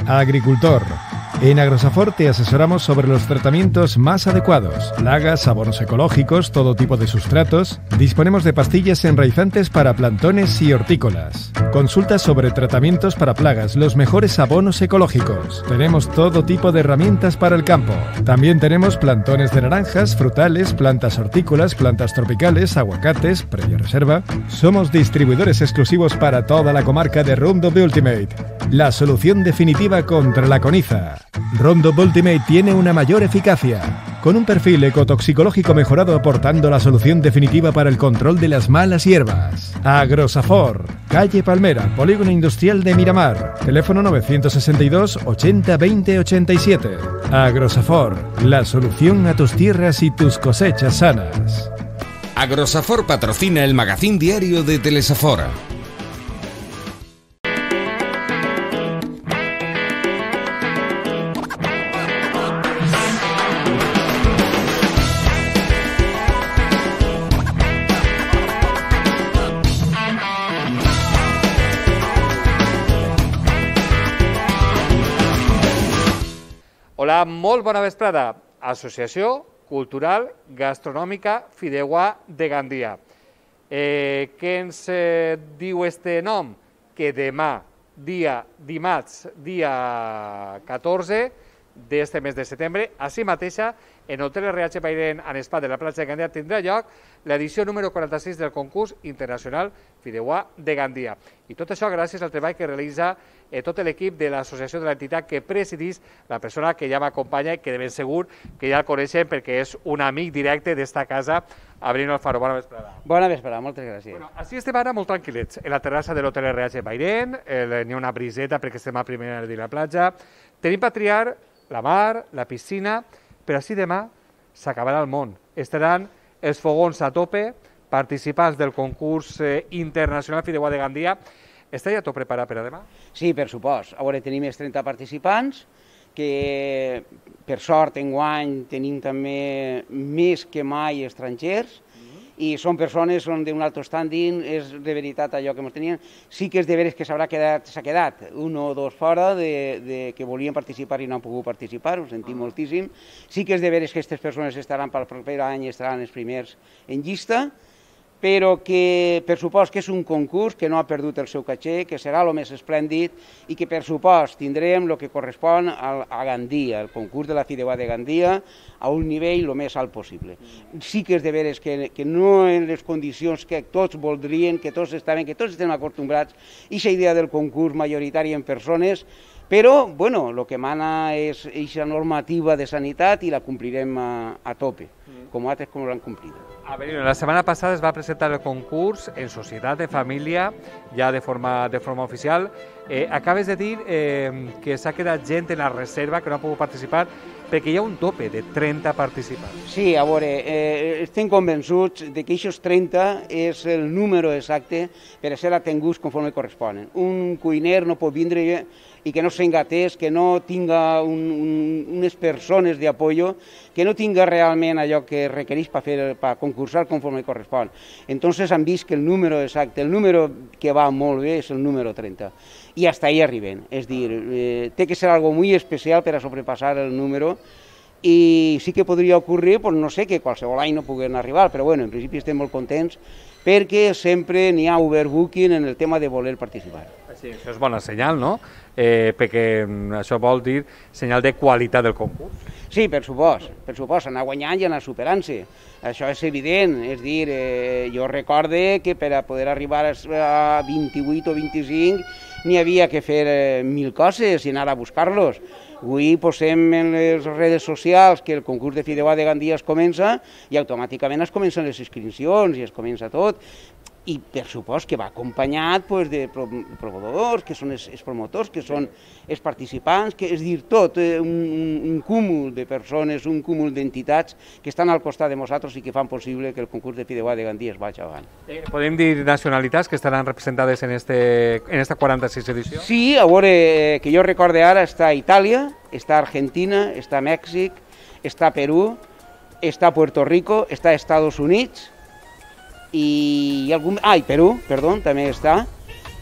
Agricultor. En Agrosafor te asesoramos sobre los tratamientos más adecuados, plagas, abonos ecológicos, todo tipo de sustratos. Disponemos de pastillas enraizantes para plantones y hortícolas. Consultas sobre tratamientos para plagas, los mejores abonos ecológicos. Tenemos todo tipo de herramientas para el campo. También tenemos plantones de naranjas, frutales, plantas hortícolas, plantas tropicales, aguacates, previa reserva. Somos distribuidores exclusivos para toda la comarca de Roundup Ultimate, la solución definitiva contra la coniza. Roundup Ultimate tiene una mayor eficacia, con un perfil ecotoxicológico mejorado aportando la solución definitiva para el control de las malas hierbas. Agrosafor, calle Palmera, Polígono Industrial de Miramar, teléfono 962 80 20 87. Agrosafor, la solución a tus tierras y tus cosechas sanas. Agrosafor patrocina el magazín diario de Telesafor. Hola, molt bona vesprada. Associació Cultural Gastronòmica Fideuà de Gandia. Què ens diu este nom? Que demà, dimarts, dia 14 d'este mes de setembre, així mateixa, en Hotel RH Bairén en Spa de la platja de Gandia tindrà lloc l'edició número 46 del concurs internacional Fideuà de Gandia. I tot això gràcies al treball que realitza tot l'equip de l'associació de l'entitat que presidís la persona que ja m'acompanya i que de ben segur que ja el coneixen perquè és un amic directe d'esta casa, Abril Alfaro. Bona vesprada. Bona vesprada, moltes gràcies. Bueno, així estem ara molt tranquil·lets, en la terrassa de l'Hotel RH Bairén, n'hi ha una briseta perquè estem a primera de la platja. Tenim per triar la mar, la piscina, però així demà s'acabarà el món. Estaran els fogons a tope, participants del concurs internacional Fideuà de Gandia. Està ja tot preparat per a demà? Sí, per supost. A veure, tenim els 30 participants, que per sort enguany tenim també més que mai estrangers, i són persones d'un altre standing, és de veritat allò que ens tenien. Sí que és de veres que s'ha quedat un o dos fora que volien participar i no han pogut participar, ho sentim moltíssim. Sí que és de veres que aquestes persones estaran pel proper any, estaran els primers en llista, però que per supost que és un concurs que no ha perdut el seu caché, que serà el més esplèndid i que per supost tindrem el que correspon a Gandia, el concurs de la Fideuà de Gandia, a un nivell el més alt possible. Sí que és de veres que no en les condicions que tots voldrien, que tots estem acostumbrats, i aquesta idea del concurs majoritari en persones, però, bueno, el que mana és aquesta normativa de sanitat i la complirem a tope, com altres com l'han complida. A veure, la setmana passada es va presentar el concurs en societat, de família, ja de forma oficial. Acabes de dir que s'ha quedat gent en la reserva que no ha pogut participar perquè hi ha un tope de 30 participants. Sí, a veure, estem convençuts que aquests 30 és el número exacte per a ser atenguts conforme corresponen. Un cuiner no pot vindre i que no s'engatés, que no tinga unes persones d'apoyo, que no tinga realment allò que requereix per concursar conforme correspon. Entonces han vist que el número exacte, el número que va molt bé és el número 30. I hasta ahí arriben, és dir, té que ser algo muy especial per a sobrepassar el número, i sí que podria ocórrer, no sé, que qualsevol any no puguen arribar, però bueno, en principi estem molt contents perquè sempre n'hi ha overbooking en el tema de voler participar. Sí, això és bona senyal, no? Perquè això vol dir senyal de qualitat del concurs. Sí, per supost, anar guanyant i anar superant-se. Això és evident, és dir, jo recorde que per a poder arribar a 28 o 25 n'hi havia que fer 1000 coses i anar a buscar-los. Avui posem en les redes socials que el concurs de Fideuà de Gandia es comença i automàticament es comencen les inscripcions i es comença tot. I per supost que va acompanyat de proveïdors, que són els promotors, que són els participants, que és dir, tot un cúmul de persones, un cúmul d'entitats que estan al costat de nosaltres i que fan possible que el concurs de Fideuà de Gandia es vagi avant. Podem dir nacionalitats que estaran representades en esta 46 edició? Sí, a veure, que jo recorde ara, està Itàlia, està Argentina, està Mèxic, està Perú, està Puerto Rico, està Estats Units, i Perú, perdó, també està,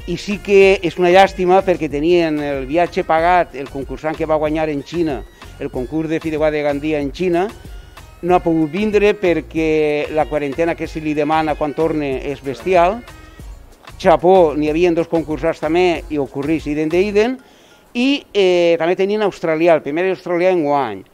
i sí que és una llàstima perquè tenien el viatge pagat, el concursant que va guanyar en Xina, el concurs de fideuà de Gandia en Xina, no ha pogut vindre perquè la quarantena que se li demana quan torne és bestial. Japó, n'hi havia 2 concursants també i ocorrís idem d'idem, i també tenien australià, el primer australià enguany.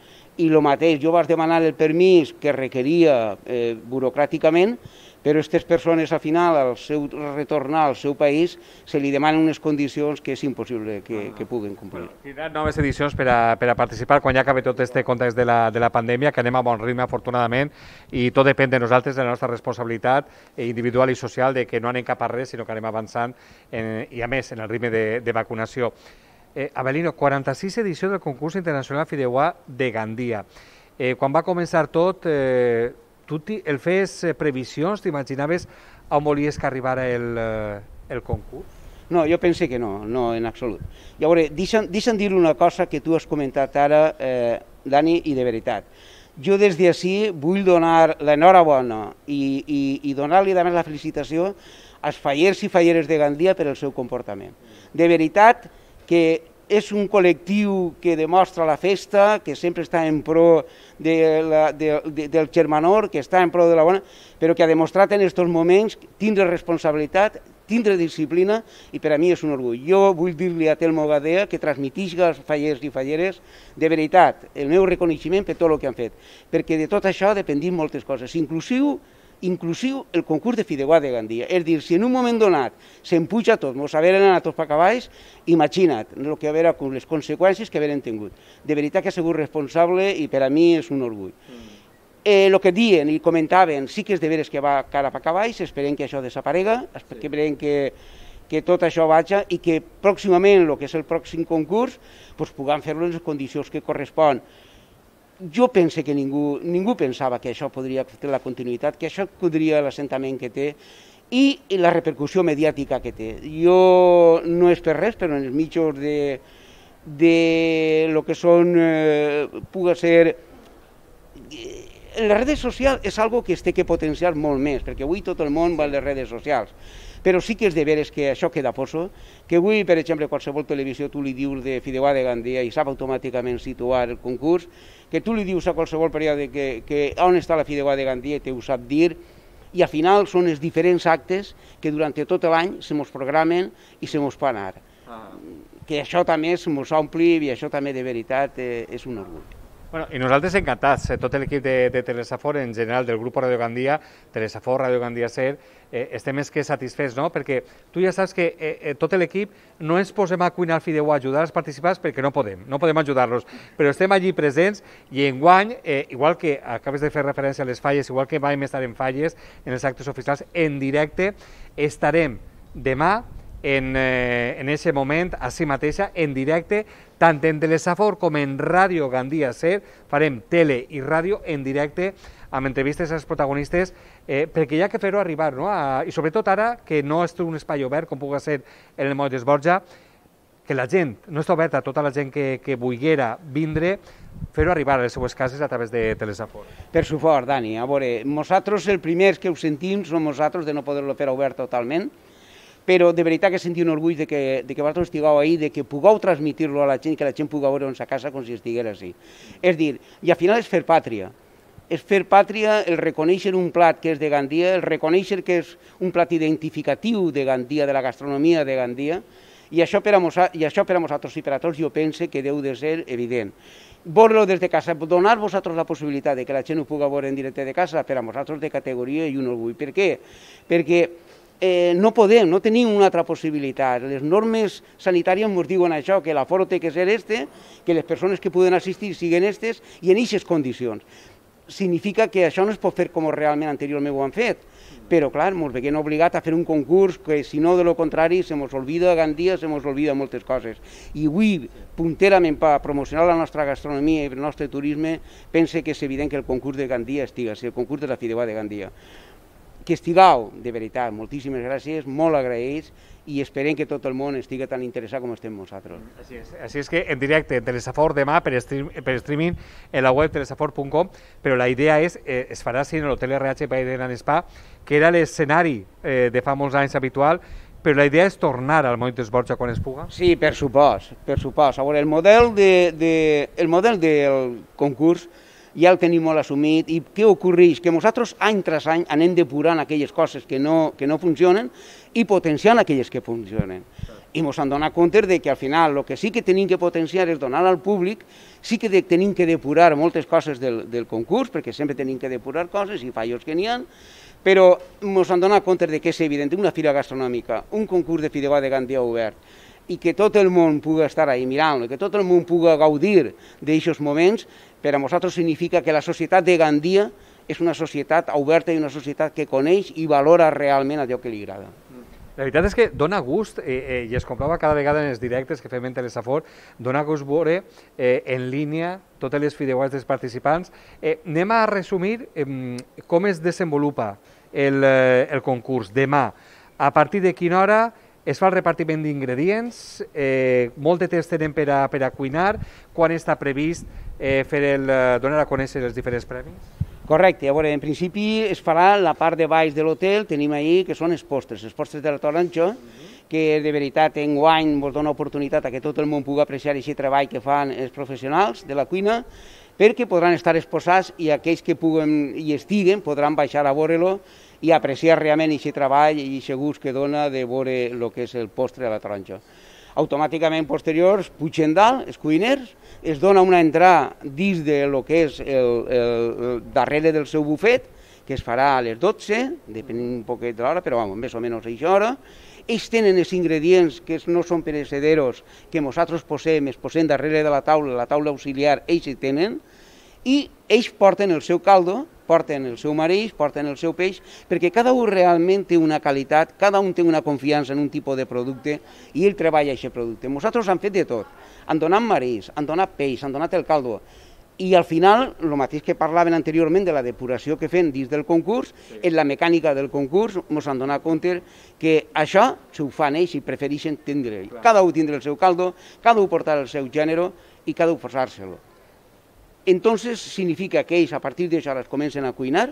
I el mateix, jo vaig demanar el permís que requeria burocràticament, però aquestes persones, al final, al seu retornar al seu país, se li demanen unes condicions que és impossible que puguen complir. Tindran noves edicions per a participar quan ja acabi tot aquest context de la pandèmia, que anem a bon ritme, afortunadament, i tot depèn de nosaltres, de la nostra responsabilitat individual i social, de que no anem cap a res, sinó que anem avançant, i a més, en el ritme de vacunació. Avelino, 46 edició del concurs internacional fideuà de Gandia. Quan va començar tot, tu el fes previsions, t'imaginaves on volies que arribara el concurs? No, jo pense que no, no en absolut. Llavors, deixa'm dir una cosa que tu has comentat ara, Dani, i de veritat. Jo des d'ací vull donar l'enhorabona i donar-li també la felicitació als fallers i falleres de Gandia per el seu comportament. De veritat que és un col·lectiu que demostra la festa, que sempre està en pro del germanor, que està en pro de la bona, però que ha demostrat en aquests moments tindre responsabilitat, tindre disciplina, i per a mi és un orgull. Jo vull dir-li a Telmo Gadea que transmetisca als fallers i falleres de veritat el meu reconeixement per tot el que han fet, perquè de tot això dependim moltes coses, inclusiu el concurs de fideuà de Gandia. És dir, si en un moment donat s'empuja tot, mos haveren anat tots per cavalls, imagina't les conseqüències que haveren tingut. De veritat que ha sigut responsable i per a mi és un orgull. El que diuen i comentaven, sí que és de veres que va cara per cavalls, esperem que això desaparega, esperem que tot això vagi i que pròximament, el que és el pròxim concurs, puguem fer-lo en les condicions que correspon. Jo penso que ningú pensava que això podria fer la continuïtat, que això podria l'assentament que té i la repercussió mediàtica que té. Jo no és per res, però en els mitjans de lo que són, pugui ser... Les redes socials és algo que es té que potenciar molt més, perquè avui tot el món va a les redes socials. Però sí que és de veres que això queda poso, que avui, per exemple, qualsevol televisió tu li dius de fideuà de Gandia i sap automàticament situar el concurs, que tu li dius a qualsevol periòdic que on està la fideuà de Gandia i te ho sap dir, i al final són els diferents actes que durant tot l'any se mos programen i se mos fan anar. Que això també se mos ompli i això també de veritat és un orgull. Bueno, i nosaltres encantats, tot l'equip de Telesafor, en general del grup Radio Gandia, Telesafor, Radio Gandia Ser, estem més que satisfets, no? Perquè tu ja saps que tot l'equip no ens posem a cuinar el fideuà, a ajudar als participants perquè no podem ajudar-los, però estem allí presents i enguany, igual que acabes de fer referència a les falles, igual que vam estar en falles, en els actes oficials, en directe, estarem demà en aquest moment, així mateixa, en directe, tant en Telesafor com en Ràdio Gandia Ser, farem tele i ràdio en directe amb entrevistes als protagonistes, perquè hi ha que fer-ho arribar, no? I sobretot ara, que no és un espai obert, com pugui ser en el Moll d'Esborja, que la gent, no està oberta a tota la gent que volguera vindre, fer-ho arribar a les seues cases a través de Telesafor. Per suport, Dani. A veure, nosaltres els primers que ho sentim som nosaltres de no poder-lo fer obert totalment, però de veritat que sentim un orgull de que vosaltres estigueu ahí, de que pugueu transmitir-lo a la gent, que la gent pugui veure en sa casa com si estiguera així. És dir, i al final és fer pàtria. És fer pàtria, el reconèixer un plat que és de Gandia, el reconèixer que és un plat identificatiu de Gandia, de la gastronomia de Gandia, i això per a vosaltres i per a tots jo penso que deu de ser evident. Veure-lo des de casa, donar vosaltres la possibilitat de que la gent ho pugui veure en directe de casa, per a vosaltres de categoria i un orgull. Per què? Perquè no no tenim una altra possibilitat. Les normes sanitàries ens diuen això, que l'aforo té que ser que les persones que poden assistir siguin i en aquestes condicions. Significa que això no es pot fer com realment anteriorment ho han fet, però clar, ens veiem obligats a fer un concurs que si no de lo contrari se mos oblida Gandia, se mos oblida moltes coses. I avui, punterament per promocionar la nostra gastronomia i el nostre turisme, pense que és evident que el concurs de Gandia estiga, el concurs de la fideuà de Gandia. Que estigueu, de veritat, moltíssimes gràcies, molt agraïts i esperem que tot el món estigui tan interessat com estem nosaltres. Així és que en directe, en Telesafor demà, per streaming, en la web telesafor.com, però la idea es farà així en l'Hotel RH Baden and Spa, que era l'escenari de fa molts anys habitual, però la idea és tornar al Moll d'Esborja quan es puga? Sí, per supost, per supost. A veure, el model del concurs ja el tenim molt assumit i què ocorreix? Que nosaltres any tras any anem depurant aquelles coses que no funcionen i potenciant aquelles que funcionen. I ens hem donat compte que al final el que sí que tenim que potenciar és donar al públic, sí que tenim que depurar moltes coses del concurs, perquè sempre tenim que depurar coses i fallos que n'hi ha, però ens hem donat compte que és evident una fira gastronòmica, un concurs de fideuà de Gandia obert, i que tot el món pugui estar ahí mirant-lo, que tot el món pugui gaudir d'aquests moments, per a nosaltres significa que la societat de Gandia és una societat oberta i una societat que coneix i valora realment allò que li agrada. La veritat és que dona gust, i es comprova cada vegada en els directes que fem en Telesafor, dona gust veure en línia totes les fideuàs dels participants. Anem a resumir com es desenvolupa el concurs demà. A partir de quina hora es fa el repartiment d'ingredients, molt de temps tenen per a cuinar, quan està previst donar a conèixer els diferents premis? Correcte, a veure, en principi es farà la part de baix de l'hotel, tenim ahí que són els postres de la taronja, que de veritat enguany ens dona oportunitat a que tot el món pugui apreciar aquest treball que fan els professionals de la cuina, perquè podran estar exposats i aquells que puguen i estiguen podran baixar a veure-lo i apreciar realment aquest treball i aquest gust que dona de veure el que és el postre de la taronja. Automàticament posteriors pugen dalt, els cuiners, es dona una entrada dins de lo que és el darrere del seu bufet, que es farà a les 12, depenent un poquet de l'hora, però més o menys a aquesta hora. Ells tenen els ingredients que no són perecederos, que nosaltres es posem darrere de la taula auxiliar, ells hi tenen, i ells porten el seu caldo, porten el seu mareix, porten el seu peix, perquè cada un realment té una qualitat, cada un té una confiança en un tipus de producte i ell treballa aquest producte. Nosaltres hem fet de tot, han donat mareix, han donat peix, han donat el caldo, i al final, el mateix que parlaven anteriorment de la depuració que fem dins del concurs, en la mecànica del concurs ens han donat compte que això s'ho fan ells i prefereixen tindre. Cada un tindre el seu caldo, cada un portar el seu gènere i cada un posar-se-lo. Entonces significa que ells a partir d'això es comencen a cuinar.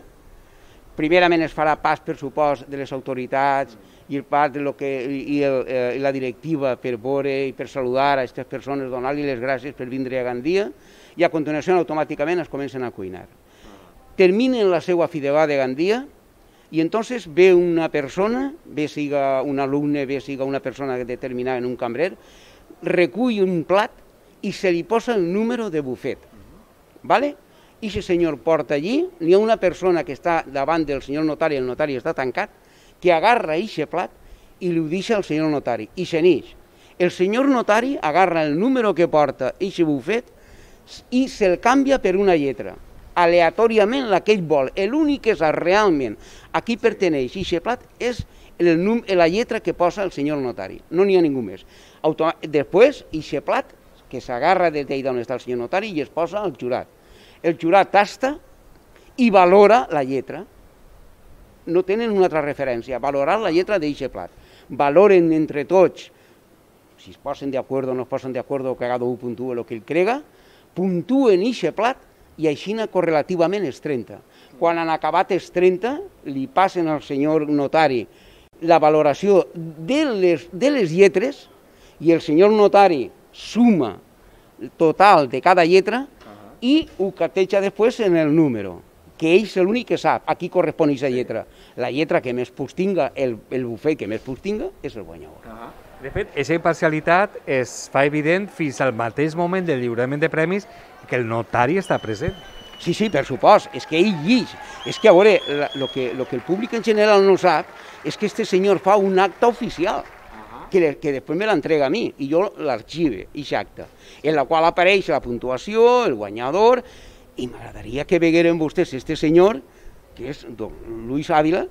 Primerament es farà pas, per supost, de les autoritats i el pas de la directiva per veure i per saludar a aquestes persones, donar-li les gràcies per vindre a Gandia, i a continuació automàticament es comencen a cuinar. Terminen la seva fideuà de Gandia i entonces ve una persona, bé siga un alumne, bé siga una persona determinada en un cambrer, recull un plat i se li posa el número de bufet. I aquest senyor porta allí, hi ha una persona que està davant del senyor notari, el notari està tancat, que agarra aquest plat i li ho deixa al senyor notari i se n'eix. El senyor notari agarra el número que porta aquest bufet i se'l canvia per una lletra, aleatòriament la que ell vol. L'únic que sap realment a qui perteneix aquest plat és la lletra que posa el senyor notari, no n'hi ha ningú més. Després, aquest plat que s'agarra des d'on està el senyor notari i es posa al jurat. El jurat tasta i valora la lletra. No tenen una altra referència, valorar la lletra d'aquest plat. Valoren entre tots, si es posen d'acord o no es posen d'acord, o que cada un puntua el que ell crega, puntuen aquest plat i així correlativament els 30. Quan han acabat els 30, li passen al senyor notari la valoració de les lletres i el senyor notari suma total de cada lletra i ho carteja després en el número, que ell és l'únic que sap a qui correspon aquesta lletra. La lletra que més punts tinga, el bufet que més punts tinga, és el guanyador. De fet, aquesta imparcialitat es fa evident fins al mateix moment del lliurament de premis que el notari està present. Sí, per supost, és que ell llig. És que, a veure, el que el públic en general no sap és que este senyor fa un acte oficial, que després me l'entrega a mi, i jo l'arxive, aquest acte, en la qual apareix la puntuació, el guanyador, i m'agradaria que vegueren vostès este senyor, que és don Luis Ávila,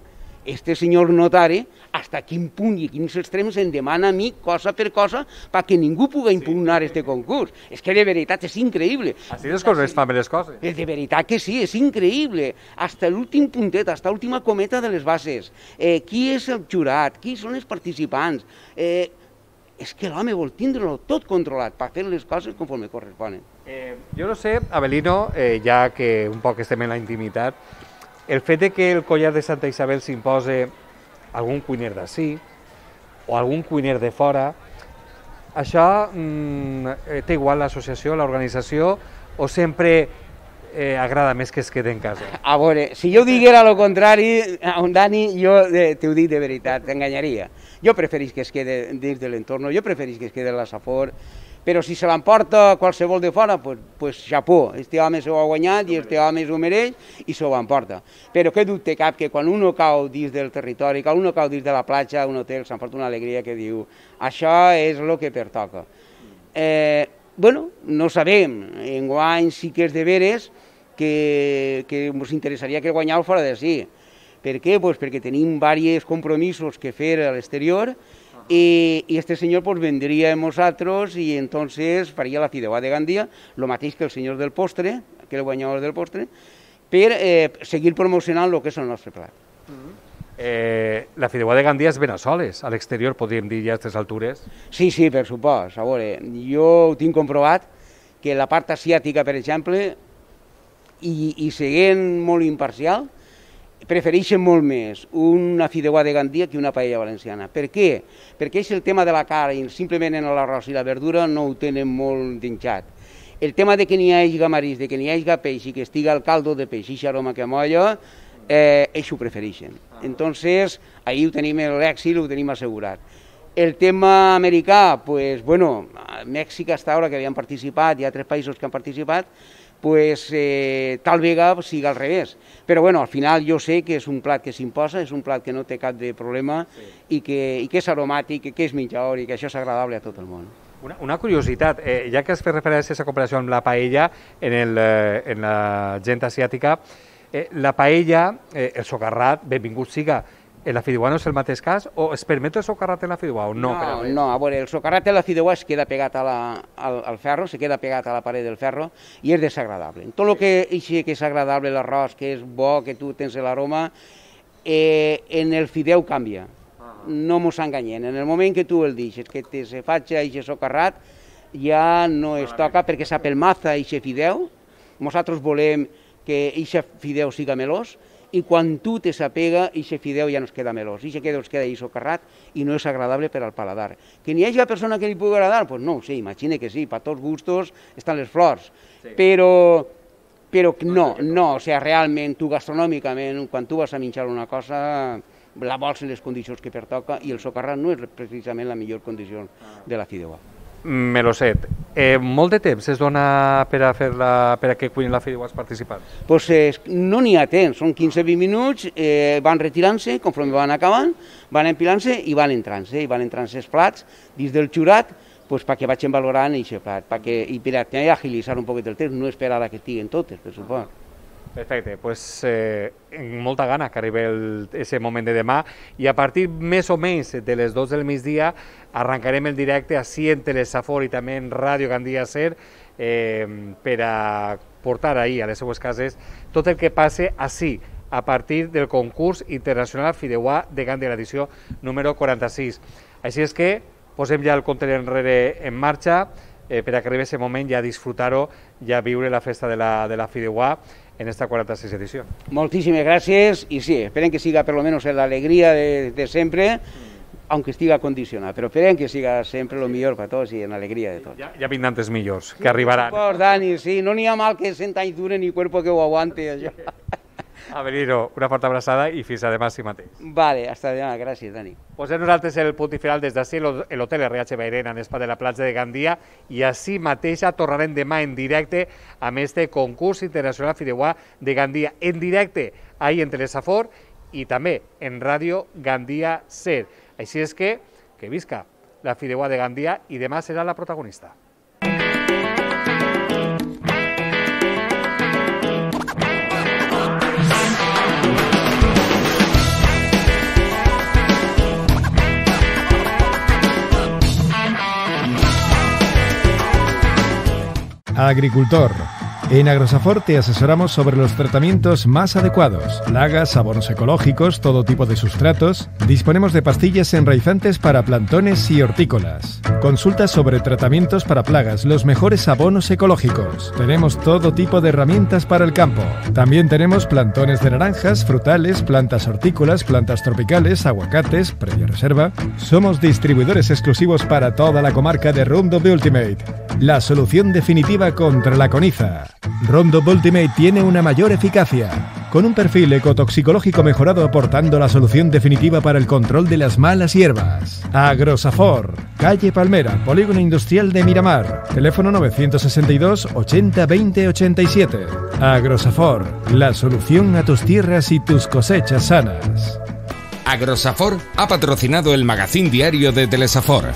este senyor notari, hasta quin punt i quins extrems em demana a mi, cosa per cosa, perquè ningú pugui impugnar este concurs. És que de veritat és increïble. Així és com es fan les coses. De veritat que sí, és increïble. Hasta l'últim puntet, hasta l'última cometa de les bases. Qui és el jurat? Qui són els participants? És que l'home vol tindre-lo tot controlat per fer les coses conforme corresponen. Jo no sé, Avelino, ja que un poc estem en la intimitat, el fet que el collar de Santa Isabel s'imposa algun cuiner d'ací, o algun cuiner de fora, això té igual l'associació, l'organització, o sempre agrada més que es quede en casa? A veure, si jo diguera el contrari, Dani, jo t'ho dic de veritat, t'enganyaria. Jo preferís que es quede dins de l'entorn, jo preferís que es quede a la Safor, però si se l'emporta qualsevol de fora, pues xapó, este home s'ho ha guanyat i este home s'ho mereix i s'ho emporta. Però què dubte cap que quan uno cau dins del territori, quan uno cau dins de la platja, un hotel, s'emporta una alegria que diu això és el que pertoca. Bueno, no sabem, enguany sí que és de veres que ens interessaria que guanyau fora de sí. Per què? Pues perquè tenim diversos compromisos que fer a l'exterior i este senyor pues vendria amb nosaltres i entonces faria la fideuà de Gandia, el mateix que el senyor del postre, que el guanyador del postre, per seguir promocionant el que és el nostre plat. La fideuà de Gandia és ben a soles, a l'exterior podríem dir ja a aquestes altures. Sí, per supost. A veure, jo ho tinc comprovat que la part asiàtica, per exemple, i sent molt imparcial, prefereixen molt més una fideuà de Gandia que una paella valenciana. Per què? Perquè és el tema de la carn, simplement en l'arròs i la verdura no ho tenen molt dinxat. El tema de que n'hi hagi marisc, de que n'hi hagi peix i que estigui el caldo de peix i aroma que molla, ells ho prefereixen. Entonces, ahí ho tenim l'èxit, ho tenim assegurat. El tema americà, pues, bueno, Mèxic hasta ara que havien participat, hi ha 3 països que han participat, pues tal vegada sigui al revés. Però bueno, al final jo sé que és un plat que s'imposa, és un plat que no té cap de problema i que és aromàtic, que és menjador i que això és agradable a tot el món. Una curiositat, ja que has fet referència a aquesta comparació amb la paella en la gent asiàtica, la paella, el socarrat, benvingut siga, en la fideuà no és el mateix cas? O es permet el socarrat en la fideuà o no? No, a veure, el socarrat en la fideuà es queda pegat al ferro, se queda pegat a la paret del ferro i és desagradable. Tot el que és agradable, l'arròs, que és bo, que tu tens l'aroma, en el fideu canvia. No mos enganyem. En el moment que tu el deixes, que te se faig aquest socarrat, ja no es toca perquè s'apelmaza aquest fideu. Nosaltres volem que aquest fideu siga melós, i quan tu te s'apega, aquest fideu ja no es queda melós, aquest fideu es queda ahí socarrat i no és agradable per al paladar. Que n'hi hagi persona que li pugui agradar? Doncs no ho sé, imagina que sí, per tots gustos estan les flors, però no, o sigui, realment, tu gastronòmicament, quan tu vas a menjar una cosa, la vols en les condicions que pertoca i el socarrat no és precisament la millor condició de la fideuà. Meloset, molt de temps es dona per a que cuinin la fideuà els participants? Doncs no n'hi ha temps, són 15-20 minuts, van retirant-se, conforme van acabant, van empilant-se i van entrant-se els plats dins del jurat perquè vagin valorant aquest plat, i per agilitzar un poquet el temps, no esperar que estiguen totes, per supost. Perfecte, doncs amb molta gana que arribi aquest moment de demà i a partir més o menys de les 2 del migdia arrencarem el directe ací en Telesafor i també en Ràdio Gandia Ser per a portar ahir a les seues cases tot el que passe ací a partir del concurs internacional Fideuà de Gandia, l'edició número 46. Així és que posem ja el compte enrere en marxa per a que arribi aquest moment ja a disfrutar-ho, ja a viure la festa de la Fideuà en esta 46 edició. Moltíssimes gràcies i sí, esperem que siga per lo menos l'alegria de sempre, aunque estiga condicionat, però esperem que siga sempre el millor per tots i en l'alegria de tots. Ja vindran els millors, que arribaran. Pues, Dani, sí, no n'hi ha mal que 100 anys dure ni cuerpo que ho aguante, això. Avelino, una forta abraçada i fins a demà si mateix. Vale, hasta demà, gràcies, Dani. Posem nosaltres el punt i final des d'ací, l'hotel RH Bairén, en Espa de la platja de Gandia, i així mateixa tornarem demà en directe amb este concurs internacional Fideuà de Gandia, en directe ahí en Telesafor i també en Ràdio Gandia Ser. Així és que visca la Fideuà de Gandia i demà serà la protagonista. Agricultor, En Agrosafor te asesoramos sobre los tratamientos más adecuados, plagas, abonos ecológicos, todo tipo de sustratos. Disponemos de pastillas enraizantes para plantones y hortícolas. Consultas sobre tratamientos para plagas, los mejores abonos ecológicos. Tenemos todo tipo de herramientas para el campo. También tenemos plantones de naranjas, frutales, plantas hortícolas, plantas tropicales, aguacates, previa reserva. Somos distribuidores exclusivos para toda la comarca de Roundup Ultimate, la solución definitiva contra la coniza. Roundup Ultimate tiene una mayor eficacia, con un perfil ecotoxicológico mejorado aportando la solución definitiva para el control de las malas hierbas. Agrosafor, calle Palmera, Polígono Industrial de Miramar, teléfono 962 80 20 87. Agrosafor, la solución a tus tierras y tus cosechas sanas. Agrosafor ha patrocinado el magazín diario de Telesafor.